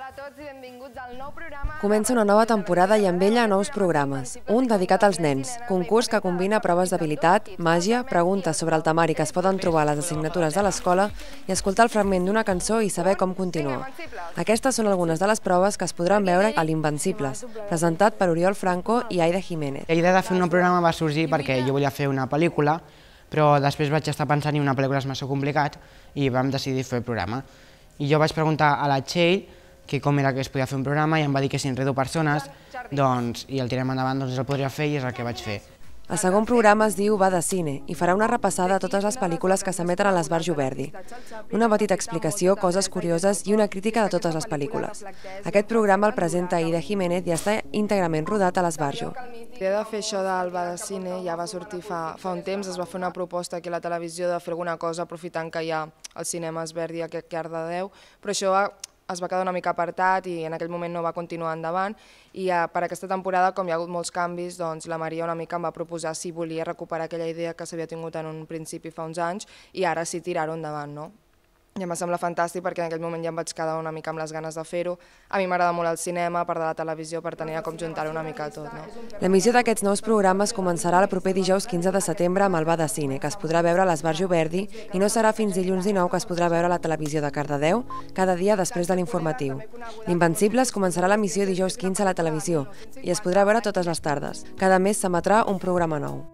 Hola a tots i benvinguts al nou programa. Comença una nova temporada i amb ella nous programes. Un dedicat als nens, concurs que combina proves d'habilitat, màgia, preguntes sobre el temari que es poden trobar a les assignatures de l'escola i escoltar el fragment d'una cançó i saber com continua. Aquestes són algunes de les proves que es podran veure a l'Invencibles, presentat per Oriol Franco i Aida Jiménez. La idea de fer un nou programa va sorgir perquè jo volia fer una pel·lícula, però després vaig estar pensant que una pel·lícula és massa complicat i vam decidir fer el programa. I jo vaig preguntar a la Txell que com era que es podia fer un programa i em va dir que si enredo persones i el tirem endavant el podria fer i és el que vaig fer. El segon programa es diu Va de cine i farà una repassada a totes les pel·lícules que s'emeten a l'Esbarjo Verdi. Una petita explicació, coses curioses i una crítica de totes les pel·lícules. Aquest programa el presenta Aida Jiménez i està íntegrament rodat a l'Esbarjo. L'idea de fer això del Va de cine ja va sortir fa un temps, es va fer una proposta aquí a la televisió de fer alguna cosa aprofitant que hi ha el cinema Verdi aquí a Cardedeu, però això es va quedar una mica apartat i en aquell moment no va continuar endavant i per aquesta temporada, com hi ha hagut molts canvis, doncs la Maria una mica em va proposar si volia recuperar aquella idea que s'havia tingut en un principi fa uns anys i ara sí tirar-ho endavant, no? I em va semblar fantàstic perquè en aquell moment ja em vaig quedar una mica amb les ganes de fer-ho. A mi m'agrada molt el cinema, a part de la televisió, per tenir com juntar-ho una mica tot, no? L'emissió d'aquests nous programes començarà el proper dijous 15 de setembre amb el Va de cine, que es podrà veure a l'Esbarjo Verdi i no serà fins dilluns 19 que es podrà veure a la televisió de Cardedeu cada dia després de l'informatiu. L'Invencibles començarà l'emissió dijous 15 a la televisió i es podrà veure totes les tardes. Cada mes s'emetrà un programa nou.